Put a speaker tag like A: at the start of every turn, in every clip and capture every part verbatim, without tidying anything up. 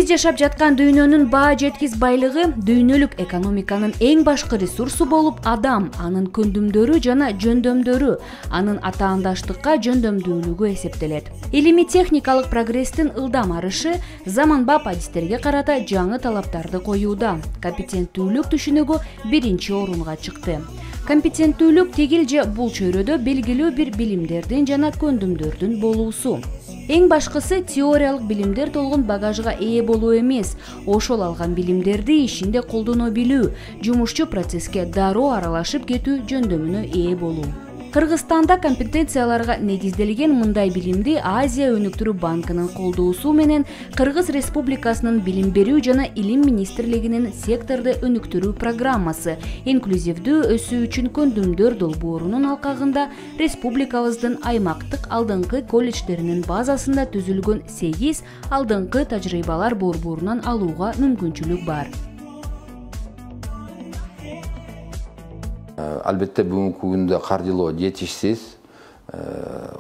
A: Биз жашап жаткан дүйнөнүн баа жеткис байлыгы дүйнөлүк экономиканын эң башкы ресурсу болуп адам, анын көндүмдөрү жана жөндөмдөрү, анын атаандаштыкка жөндөмдүүлүгү эсептелет. Илимий техникалык прогресстин ылдам арышы заманбап адистерге карата жаңы талаптарды коюуда. Компетенттүүлүк түшүнүгү биринчи орунга чыкты. Компетенттүүлүк тигил же бул чөйрөдө белгилүү бир билимдердин жана көндүмдөрдүн болуусу. Эң башкысы теориялык билимдер толгон багажга ээ болуу эмес, ошол алган билимдерди ишинде колдоно билүү, жумушчу процесске дароо аралашып кетүү жөндөмүнө ээ болуу. Кыргызстанда компетенцияларга негизделген мындай билимди Азия өнүктүрүү банкынын колдоосу менен Кыргыз Республикасынын билим берүү жана илим министрлигинин секторду өнүктүрүү программасы инклюзивдүү өсүү үчүн көндүмдөр долбоорунун алкагында республикабыздын аймактык алдыңкы колледждеринин базасында түзүлгөн сегиз алдыңкы тажрыйбалар борборунан алууга мүмкүнчүлүк бар.
B: Албетте бүгүнкү күндө каржылоо жетишсиз.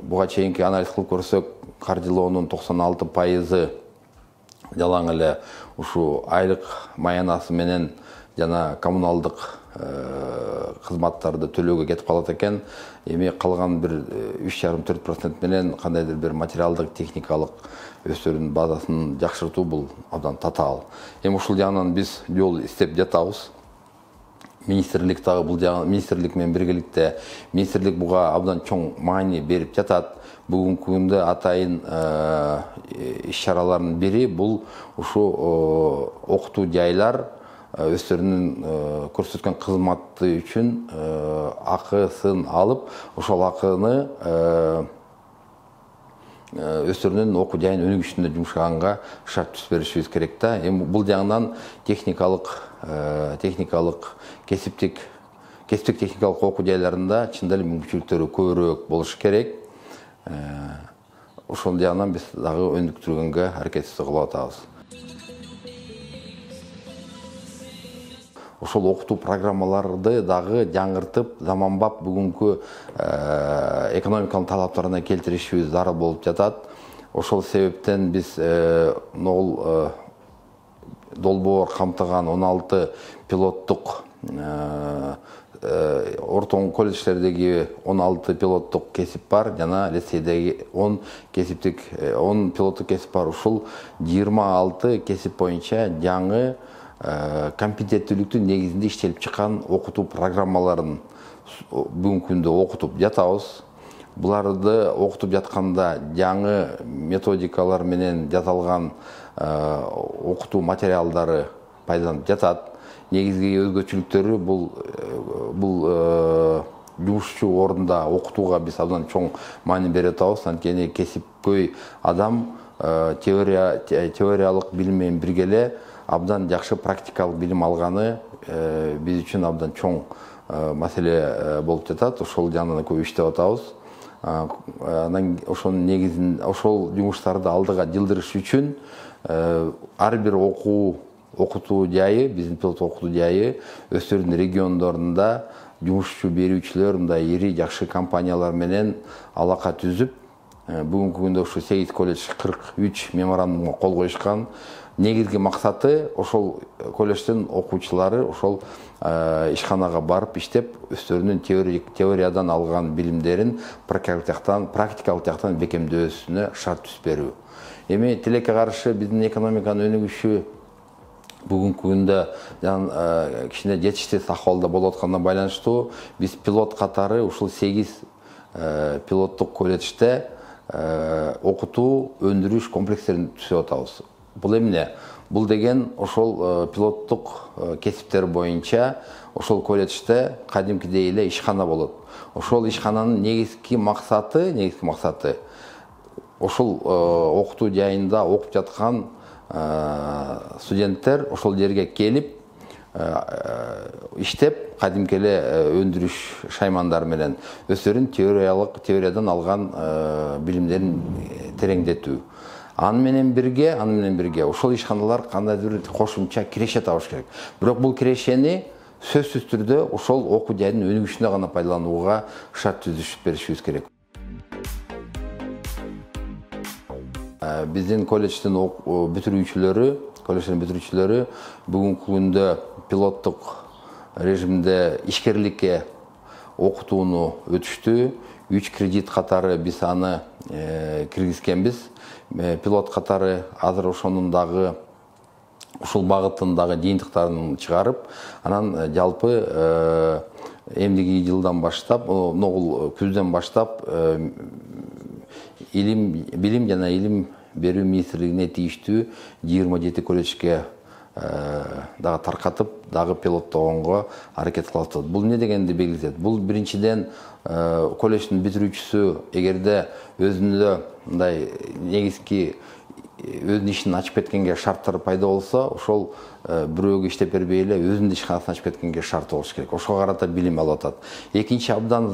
B: Буга чейинки анализ кылып көрсөк, каржылоонун токсон алты пайызы жалаң эле ушу айлык маянасы менен жана коммуналдык кызматтарды төлөөгө кетип калат экен. Эми калган бир үч жарым төрт процент менен кандайдыр бир материалдык, техникалык өстөрүнүн базасын жакшыртуу бул абдан татаал. Эми ушул жагынан биз жол издеп жатабыз. Министрлик дагы бул министрлик менен биргеликте министрлик буга абдан чоң маани берип жатат. Бүгүнкү күндө атайын иш-чаралардын бири бул ушу окутуу жайлар өздөрүнүн көрсөткөн кызматы үчүн акысын алып, ошол акыны өздөрүнүн окуу жайын өнүгүшүндө жумшаганга шарт түз беришибиз керек да. Эми бул жагынан техникалык техникалык кесиптик кесиптик техникалык окуу жайларында чындап эле мүмкүнчүлүктөрү көбүрөөк болуш керек. Ошол жагынан биз дагы өнүктүргөнгө аракетибизди кылып атабыз. Ошол окутуу программаларды дагы жаңыртып, заманбап бүгүнкү экономиканын талаптарына келтиришибиз зарыл болуп жатат. Ошол себептен биз нол долбоор камтыган он алты пилоттук ортоң колледждердеги он алты пилоттук кесип бар, жана лицейдеги он кесиптик он пилоттук кесип бар. Ушул жыйырма алты кесип боюнча жаңы компетенттүүлүктүн негизинде иштелип чыккан окутуу программаларын бүгүнкү күндө окутуп жатабыз. Буларды окутуп жатканда жаңы методикалар менен жасалган окутуу материалдары пайдаланып жатат. Негизги өзгөчөлүктөрү бул бул жумушчу орунда окутууга биз абдан чоң маани берип атабыз. Анткени кесипкөй адам теория теориялык билим менен бирге эле абдан жакшы практикалык билим алганы биз үчүн абдан чоң маселе болуп жатат. Ошол жагынан көп иштеп атабыз. Анан ошонун негизин, ошол жумуштарды алдыга жылдырыш үчүн ар бир окуу окутуу жайы, биздин пилот окутуу жайы өздөрүнүн региондорунда жумушчу берүүчүлөр, мындай ири жакшы компаниялар менен алака түзүп, бүгүнкү күндө ушу сегиз колледж кырк үч меморандумга кол коюшкан. Негизги максаты ошол колледждин окуучулары ошол ишканага барып иштеп, өздөрүнүн теориядан алган билимдерин практикалык жактан практикалык жактан бекемдөөсүнө шарт түзүп берүү. Эми тилекке каршы биздин экономиканын өнүгүшү бүгүнкү күндө кичине жетишсиз акыбалда болуп атканына байланыштуу биз пилот катары ушул сегиз пилоттук колледжде окутуу өндүрүш комплекстерин түзүп атабыз. Бул эмне? Бул деген ошол пилоттук кесиптер боюнча ошол колледжде кадимкидей эле ишкана болот. Ошол ишкананын негизги максаты, негизги максаты ошол окутуу жайында окуп жаткан студенттер ошол жерге келип иштеп, кадимки эле өндүрүш шаймандары менен өздөрүнүн теориялык теориядан алган билимдерин тереңдетүү. Аны менен бирге, аны менен бирге ошол ишканалар кандайдыр бир кошумча киреше табыш керек. Бирок бул кирешени сөзсүз түрдө ошол окуу жайдын өнүгүшүнө гана пайдаланууга шарт түзүп беришибиз керек. Биздин колледждин бүтүрүүчүлөрү колледждин бүтүрүүчүлөрү бүгүнкү күндө пилоттук режимде ишкерликке окутууну өтүштү. Үч кредит катары биз аны киргизгенбиз. Пилот катары азыр ошонун дагы ушул багыттын дагы жыйынтыктарын чыгарып, анан жалпы эмдиги жылдан баштап, ногул күздөн баштап илим, билим жана илим берүү министрлигине тийиштүү жыйырма жети колледжге дагы таркатып, дагы пилоттогонго аракет кылып атат. Бул не дегенди белгилейт? Бул биринчиден колледждин бүтүрүүчүсү эгерде өзүндө мындай негизги өзүнүн ишин ачып кеткенге шарттар пайда болсо, ошол бирөөгө иштеп бербей эле өзүнүн ишканасын ачып кеткенге шарт болуш керек. Ошого карата билим алып атат. Экинчи абдан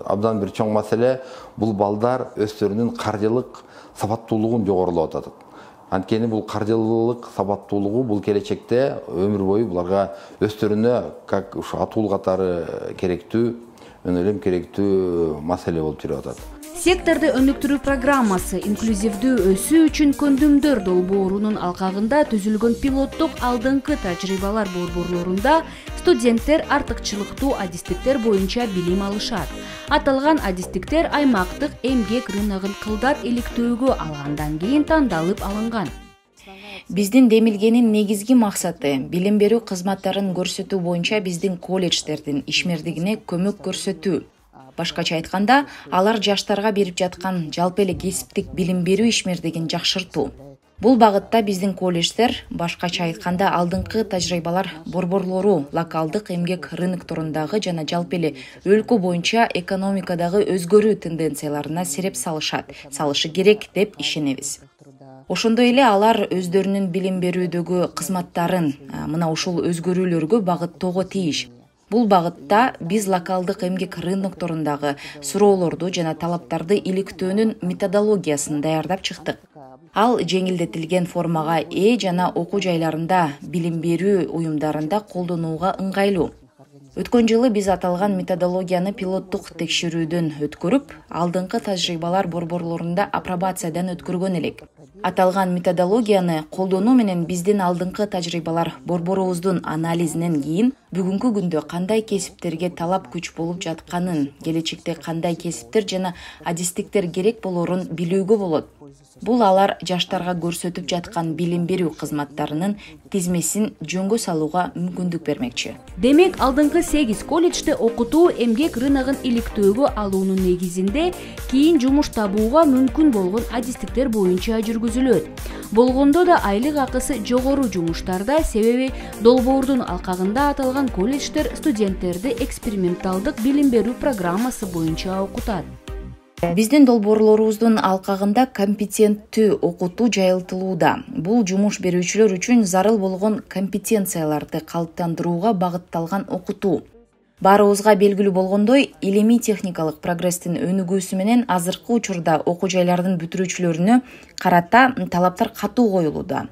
B: абдан бир чоң маселе бул балдар өздөрүнүн каржылык сабаттуулугун жогорулап атат. Анткени бул каржылык сабаттуулугу бул келечекте өмүр бою буларга өздөрүнө как ушу атуу катары керектүү, мен ойлойм керектүү маселе болуп жүрүп атат.
A: Секторду өнүктүрүү программасы инклюзивдүү өсүү үчүн көндүмдөр долбоорунун алкагында түзүлгөн пилоттук алдыңкы тажрыйбалар борборлорунда студенттер артыкчылыктуу адистиктер боюнча билим алышат. Аталган адистиктер аймактык эмгек рыногун кылдат иликтөөгө алгандан кийин тандалып алынган.
C: Биздин демилгенин негизги максаты билим берүү кызматтарын көрсөтүү боюнча биздин колледждердин ишмердигине көмөк көрсөтүү. Башкача айтканда, алар жаштарга берип жаткан жалпы эле кесиптик билим берүү ишмердигин жакшыртуу. Бул багытта биздин колледждер, башкача айтканда, алдыңкы тажрыйбалар борборлору локалдык эмгек рынокторундагы жана жалпы эле өлкө боюнча экономикадагы өзгөрүү тенденцияларына сереп салышат, салышы керек деп ишенебиз. Ошондой эле алар өздөрүнүн билим берүүдөгү кызматтарын мына ушул өзгөрүүлөргө багыттоого тийиш. Бул багытта биз локалдык эмгек рынокторундагы суроолорду жана талаптарды иликтөөнүн методологиясын даярдап чыктык. Ал жеңилдетилген формага ээ жана окуу жайларында, билим берүү уюмдарында колдонууга ыңгайлуу. Өткөн жылы биз аталган методологияны пилоттук текшерүүдөн өткөрүп, алдыңкы тажрыйбалар борборлорунда апробациядан өткөргөн элек. Аталган методологияны колдонуу менен биздин алдыңкы тажрыйбалар борборубуздун анализинен кийин бүгүнкү күндө кандай кесиптерге талап күч болуп жатканын, келечекте кандай кесиптер жана адистиктер керек болорун билүүгө болот. Бул алар жаштарга көрсөтүп жаткан билим берүү кызматтарынын тизмесин жөнгө салууга мүмкүндүк бермекчи.
A: Демек, алдыңкы сегиз колледжде окутуу эмгек рыногун иликтөөгө алуунун негизинде кийин жумуш табууга мүмкүн болгон адистиктер боюнча жүргүзүлөт. Болгондо да айлык акысы жогору жумуштарда, себеби долбоордун алкагында аталган колледждер студенттерди эксперименталдык билим берүү программасы боюнча окутат.
C: Биздин долбоорлорубуздун алкагында компетенттүү окутуу жайылтылууда. Бул жумуш берүүчүлөр үчүн зарыл болгон компетенцияларды калыптандырууга багытталган окутуу. Баарыбызга белгилүү болгондой, илимий техникалык прогресстин өнүгүүсү менен азыркы учурда окуу жайлардын бүтүрүүчүлөрүнө карата талаптар катуу коюлууда.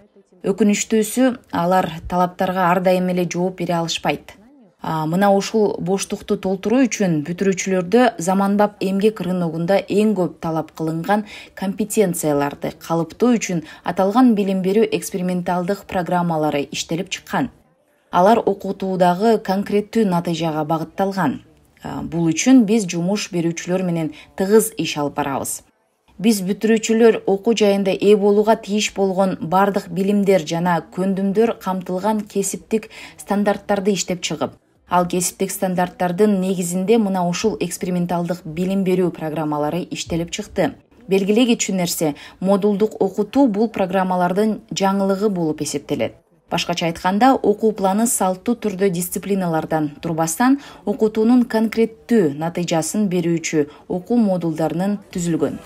C: Өкүнүчтүүсү, алар талаптарга ар дайым эле жооп бере алышпайт. Мына ушул боштукту толтуруу үчүн бүтүрүүчүлөрдө заманбап эмгек рыногунда эң көп талап кылынган компетенцияларды калыптоо үчүн аталган билим берүү эксперименталдык программалары иштелип чыккан. Алар окутуудагы конкреттүү натыйжага багытталган. Бул үчүн биз жумуш берүүчүлөр менен тыгыз иш алып барабыз. Биз бүтүрүүчүлөр окуу жайында ээ болууга тийиш болгон бардык билимдер жана көндүмдөр камтылган кесиптик стандарттарды иштеп чыгып, ал кесиптик стандарттардын негизинде мына ушул эксперименталдык билим берүү программалары иштелип чыкты. Белгилей кетчү нерсе, модулдук окутуу бул программалардын жаңылыгы болуп эсептелет. Башкача айтканда, окуу планы салттуу түрдө дисциплиналардан турбастан, окутуунун конкреттүү натыйжасын берүүчү окуу модулдарынын түзүлгөн.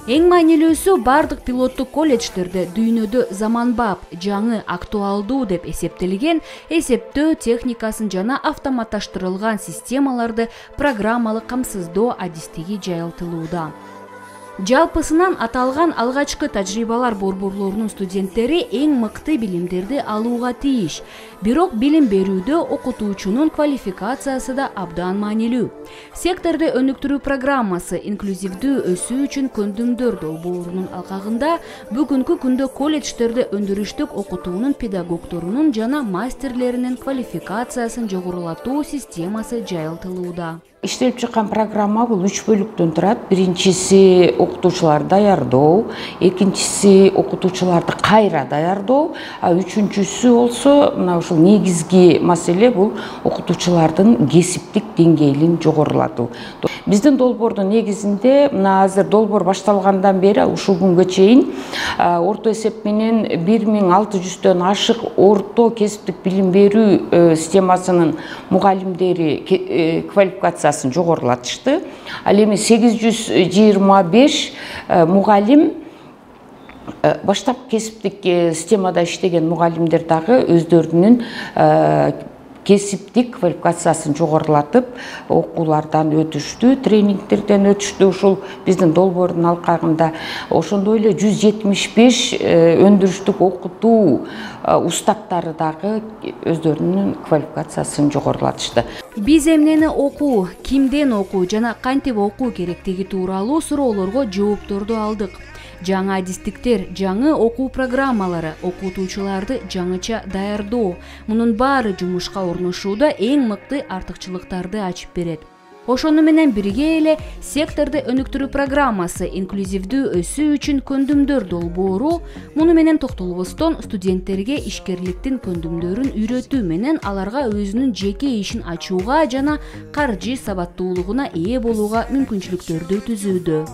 A: Эң маанилүүсү, бардык пилоттук колледждерде дүйнөдө заманбап, жаңы, актуалдуу деп эсептелген эсептөө техникасын жана автоматташтырылган системаларды программалык камсыздоо адистиги жайылтылууда. Жалпысынан аталган алгачкы тажрыйбалар борборлорунун студенттери эң мыкты билимдерди алууга тийиш. Бирок билим берүүдө окутуучунун квалификациясы да абдан маанилүү. Секторду өнүктүрүү программасы инклюзивдүү өсүү үчүн көндүмдөр долбоорунун алкагында бүгүнкү күндө колледждерде өндүрүштүк окутуунун педагогдорунун жана мастерлеринин квалификациясын жогорулатуу системасы жайылтылууда.
D: Иштелип чыккан программа бул үч бөлүктөн турат. Биринчиси окутуучуларды даярдоо, экинчиси окутуучуларды кайра даярдоо, а үчүнчүсү болсо мына ушул негизги маселе бул окутуучулардын кесиптик деңгээлин жогорулатуу. Биздин долбоордун негизинде мына азыр долбоор башталгандан бери ушул күнгө чейин орто эсеп менен бир миң алты жүздөн ашык орто кесиптик билим берүү системасынын мугалимдери квалификациясын жогорулатышты. Ал эми сегиз жүз жыйырма беш мугалим баштап кесиптик системада иштеген мугалимдер дагы өздөрүнүн кесиптик квалификациясын жогорулатып, окуулардан өтүштү, тренингтерден өтүштү. Ушул биздин долбоордун алкагында ошондой эле жүз жетимиш беш өндүрүштүк окутуу устаттары дагы өздөрүнүн квалификациясын жогорулатышты.
A: Биз эмнени окуу, кимден окуу жана кантип окуу керектиги тууралуу суроолорго жоопторду алдык. Жаңы адистиктер, жаңы окуу программалары, окутуучуларды жаңыча даярдоо. Мунун баары жумушка орношууда эң мыкты артыкчылыктарды ачып берет. Ошону менен бирге эле секторду өнүктүрүү программасы инклюзивдүү өсүү үчүн көндүмдөр долбоору муну менен токтолбостон студенттерге ишкерликтин көндүмдөрүн үйрөтүү менен аларга өзүнүн жеке ишин ачууга жана каржы сабаттуулугуна ээ болууга мүмкүнчүлүктөрдү түзүүдө.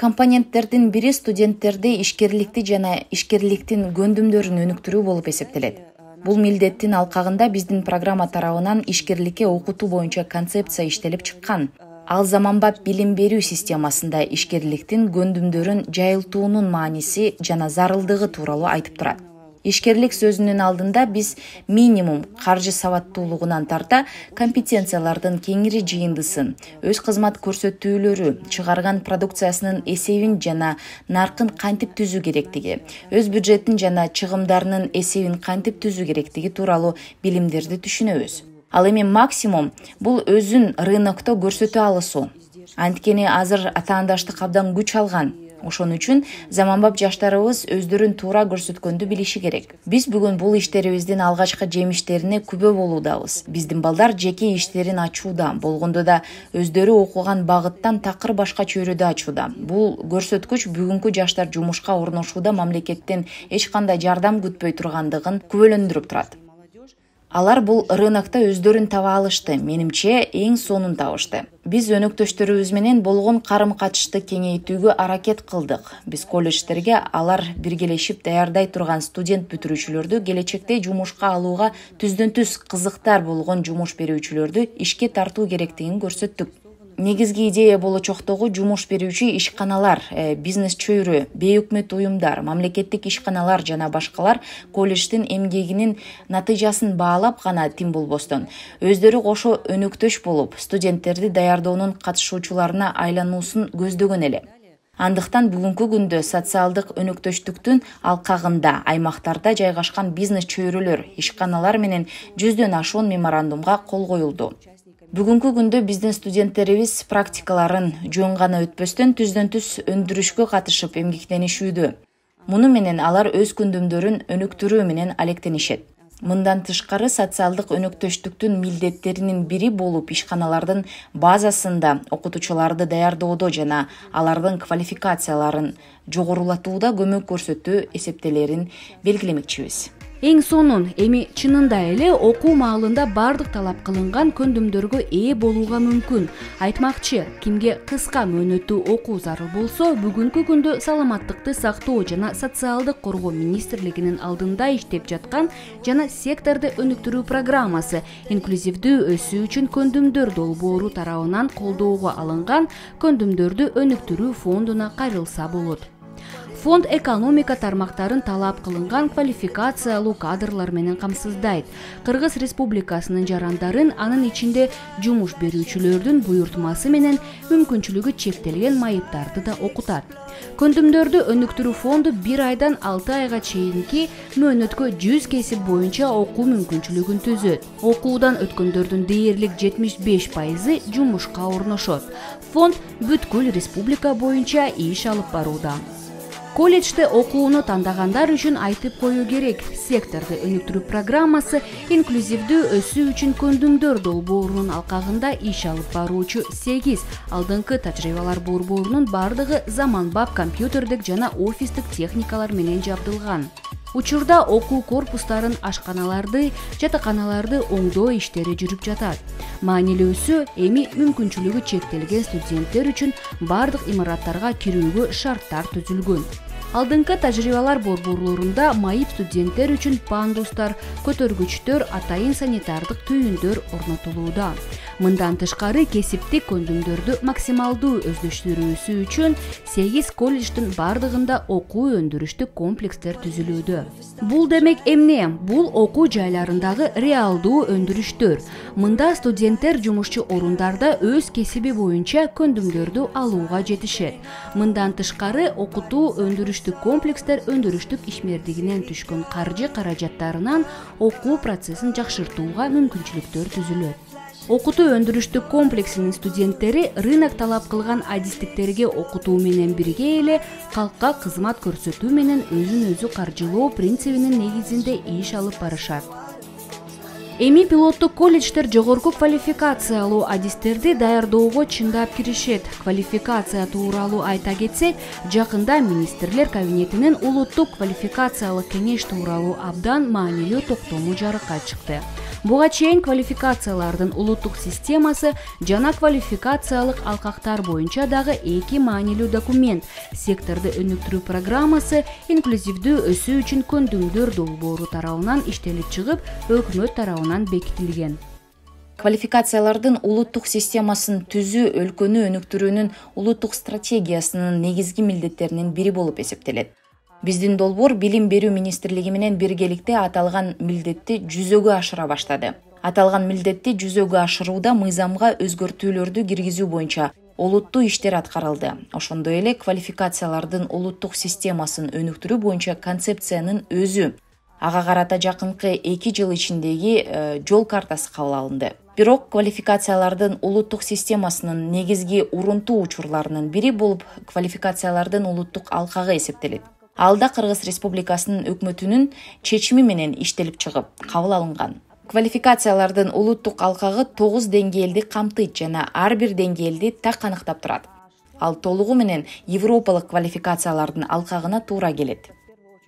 C: Компоненттердин бири студенттерди ишкерликти жана ишкерликтин көндүмдөрүн өнүктүрүү болуп эсептелет. Бул милдеттин алкагында биздин программа тарабынан ишкерликке окутуу боюнча концепция иштелип чыккан. Ал заманбап билим берүү системасында ишкерликтин көндүмдөрүн жайылтуунун мааниси жана зарылдыгы тууралуу айтып турат. Ишкерлик сөзүнүн алдында биз минимум каржы сабаттуулугунан тарта компетенциялардын кеңири жыйындысын, өз кызмат көрсөтүүлөрү, чыгарган продукциясынын эсебин жана наркын кантип түзүү керектиги, өз бюджетин жана чыгымдарынын эсебин кантип түзүү керектиги тууралуу билимдерди түшүнөбүз. Ал эми максимум бул өзүн рынокто көрсөтө алысуу. Анткени азыр атаандаштык абдан күч алган. Ошон үчүн заманбап жаштарыбыз өздөрүн туура көрсөткөндү билиши керек. Биз бүгүн бул иштерибиздин алгачкы жемиштерине күбө болуудабыз. Биздин балдар жеке иштерин ачууда, болгондо да өздөрү окуган багыттан такыр башка чөйрөдө ачууда. Бул көрсөткүч бүгүнкү жаштар жумушка орношууда мамлекеттен эч кандай жардам күтпөй тургандыгын күбөлөндүрүп турат. Алар бул рынокто өздөрүн таба алышты, менимче эң сонун табышты. Биз өнөктөштөрүбүз менен болгон карым-катышты кеңейтүүгө аракет кылдык. Биз колледждерге алар биргелешип даярдай турган студент бүтүрүүчүлөрдү келечекте жумушка алууга түздөн-түз кызыктар болгон жумуш берүүчүлөрдү ишке тартуу керектигин көрсөттүк. Негизги идея болочоктогу жумуш берүүчү ишканалар, бизнес чөйрө, бейөкмөт уюмдар, мамлекеттик ишканалар жана башкалар колледждин эмгегинин натыйжасын баалап гана тим болбостон, өздөрү кошо өнөктөш болуп, студенттерди даярдоонун катышуучуларына айлануусун көздөгөн эле. Андыктан бүгүнкү күндө социалдык өнөктөштүктүн алкагында аймактарда жайгашкан бизнес чөйрөлөр, ишканалар менен жүздөн ашуун меморандумга кол коюлду. Бүгүнкү күндө биздин студенттерибиз практикаларын жөн гана өтпөстөн түздөн-түз өндүрүшкө катышып эмгектенишүүдө. Муну менен алар өз көндүмдөрүн өнүктүрүү менен алектенишет. Мындан тышкары социалдык өнөктөштүктүн милдеттеринин бири болуп ишканалардын базасында окутуучуларды даярдоодо жана алардын квалификацияларын жогорулатууда көмөк көрсөтүү эсептелерин белгилемекчибиз.
A: Эң сонун, эми чынында эле окуу маалында бардык талап кылынган көндүмдөргө ээ болууга мүмкүн. Айтмакчы, кимге кыска мөөнөттүү окуу зарыл болсо, бүгүнкү күндө саламаттыкты сактоо жана социалдык коргоо министрлигинин алдында иштеп жаткан жана секторду өнүктүрүү программасы инклюзивдүү өсүү үчүн көндүмдөр долбоору тарабынан колдоого алынган көндүмдөрдү өнүктүрүү фондуна кайрылса болот. Фонд экономика тармактарын талап кылынган квалификациялуу кадрлар менен камсыздайт. Кыргыз Республикасынын жарандарын, анын ичинде жумуш берүүчүлөрдүн буйртмасы менен мүмкүнчүлүгү чектелген майыптарды да окутат. Көндүмдөрдү өнүктүрүү фонду бир айдан алты айга чейинки мөөнөткө жүз кесип боюнча окуу мүмкүнчүлүгүн түзөт. Окуудан өткөндөрдүн дээрлик жетимиш беш пайызы жумушка орношот. Фонд бүткүл республика боюнча иш алып барууда. Колледжде окууну тандагандар үчүн айтып коюу керек. Секторду өнүктүрүү программасы инклюзивдүү өсүү үчүн көндүмдөр долбоорунун алкагында иш алып баруучу сегиз алдыңкы тажрыйбалар борборунун бардыгы заманбап компьютердик жана офистик техникалар менен жабдылган. Учурда окуу корпустарын, ашканаларды, жатаканаларды оңдоо иштери жүрүп жатат. Маанилүүсү, эми мүмкүнчүлүгү чектелген студенттер үчүн бардык имараттарга кирүүгө шарттар түзүлгөн. Алдыңкы тажрыйбалар борборлорунда майып студенттер үчүн пандустар, көтөргүчтөр, атайын санитардык түйүндөр орнотулууда. Мындан тышкары кесиптик көндүмдөрдү максималдуу өздөштүрүүсү үчүн сегиз колледждин бардыгында окуу өндүрүштүк комплекстер түзүлүүдө. Бул демек эмне? Бул окуу жайларындагы реалдуу өндүрүштөр. Мында студенттер жумушчу орундарда өз кесиби боюнча көндүмдөрдү алууга жетишет. Мындан тышкары окутуу өндүрүштүк комплекстер өндүрүштүк ишмердигинен түшкөн каржы каражаттарынан окуу процессин жакшыртууга мүмкүнчүлүктөр түзүлөт. Окутуу өндүрүштүк комплексинин студенттери рынок талап кылган адистиктерге окутуу менен бирге эле калкка кызмат көрсөтүү менен өзүн өзү каржылоо принцибинин негизинде иш алып барышат. Эми пилоттук колледждер жогорку квалификациялуу адистерди даярдоого чындап киришет. Квалификация тууралуу айта кетсек, жакында министрлер кабинетинин улуттук квалификациялык кеңеш тууралуу абдан маанилүү токтому жарыкка чыкты. Буга чейин квалификациялардын улуттук системасы жана квалификациялык алкактар боюнча дагы эки маанилүү документ — секторду өнүктүрүү программасы, инклюзивдүү өсүү үчүн көндүмдөр долбоору тарабынан иштелип чыгып, өкмөт тарабынан бекитилген.
C: Квалификациялардын улуттук системасын түзүү өлкөнү өнүктүрүүнүн улуттук стратегиясынын негизги милдеттеринин бири болуп эсептелет. Биздин долбоор билим берүү министрлиги менен биргеликте аталган милдетти жүзөгө ашыра баштады. Аталган милдетти жүзөгө ашырууда мыйзамга өзгөртүүлөрдү киргизүү боюнча олуттуу иштер аткарылды. Ошондой эле квалификациялардын улуттук системасын өнүктүрүү боюнча концепциянын өзү, ага карата жакынкы эки жыл ичиндеги жол картасы кабыл алынды. Бирок квалификациялардын улуттук системасынын негизги урунтуу учурларынын бири болуп квалификациялардын улуттук алкагы эсептелет. Алда Кыргыз Республикасынын өкмөтүнүн чечими менен иштелип чыгып, кабыл алынган. Квалификациялардын улуттук алкагы тогуз деңгээлди камтыйт жана ар бир деңгээлди так аныктап турат. Ал толугу менен европалык квалификациялардын алкагына туура келет.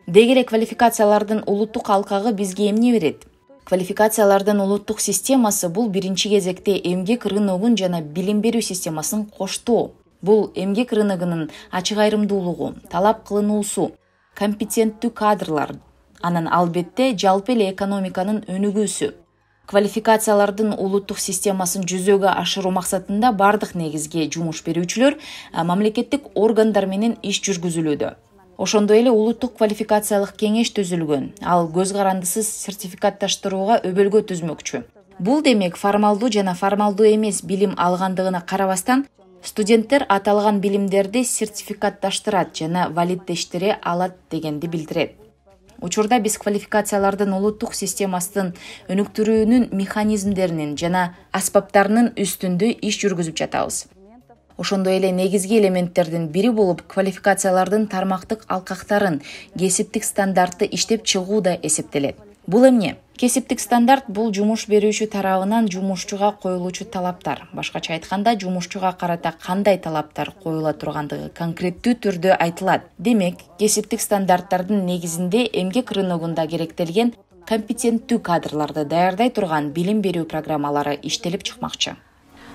C: Деги эле квалификациялардын улуттук алкагы бизге эмне берет? Квалификациялардын улуттук системасы бул биринчи кезекте эмгек рыногун жана билим берүү системасын коштоо. Бул эмгек рыногунун ачык айрымдуулугу, талап кылынуусу, компетенттүү кадрлар, анан албетте жалпы эле экономиканын өнүгүүсү. Квалификациялардын улуттук системасын жүзөгө ашыруу максатында бардык негизги жумуш берүүчүлөр мамлекеттик органдар менен иш жүргүзүлүүдө. Ошондой эле улуттук квалификациялык кеңеш түзүлгөн. Ал көз карандысыз сертификатташтырууга өбөлгө түзмөкчү. Бул демек формалдуу жана формалдуу эмес билим алгандыгына карабастан студенттер аталган билимдерди сертификатташтырат жана валиддештире алат дегенди билдирет. Учурда биз квалификациялардын улуттук системасын өнүктүрүүнүн механизмдеринин жана аспаптарынын үстүндө иш жүргүзүп жатабыз. Ошондой эле негизги элементтердин бири болуп квалификациялардын тармактык алкактарын, кесиптик стандартты иштеп чыгуу да эсептелет. Бул эмне? Кесиптик стандарт бул жумуш берүүчү тарабынан жумушчуга коюлуучу талаптар. Башкача айтканда, жумушчуга карата кандай талаптар коюла тургандыгы конкреттүү түрдө айтылат. Демек, кесиптик стандарттардын негизинде эмгек рыногунда керектелген компетенттүү кадрларды даярдай турган билим берүү программалары иштелип чыкмакчы.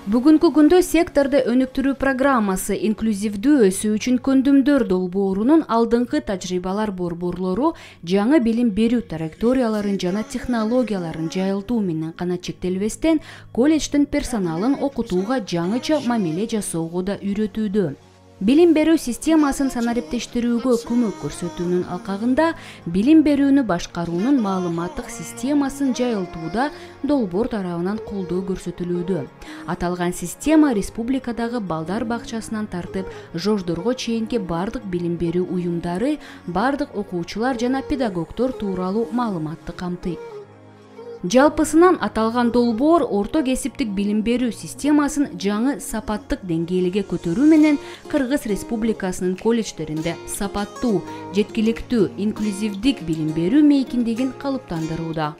A: Бүгүнкү күндө секторду өнүктүрүү программасы инклюзивдүү өсүү үчүн көндүмдөр долбоорунун алдыңкы тажрыйбалар борборлору жаңы билим берүү траекторияларын жана технологияларын жайылтуу менен гана чектелбестен, колледждин персоналын окутууга жаңыча мамиле жасоого да үйрөтүүдө. Билим берүү системасын санариптештирүүгө көмөк көрсөтүүнүн алкагында билим берүүнү башкаруунун маалыматтык системасын жайылтууда долбоор тарабынан колдоо көрсөтүлүүдө. Аталган система республикадагы балдар бакчасынан тартып жождорго чейинки бардык билим берүү уюмдары, бардык окуучулар жана педагогдор тууралуу маалыматты камтыйт. Жалпысынан аталган долбоор орто кесиптик билим берүү системасын жаңы сапаттык деңгээлге көтөрүү менен Кыргыз Республикасынын колледждеринде сапаттуу, жеткиликтүү, инклюзивдик билим берүү мейкиндигин калыптандырууда.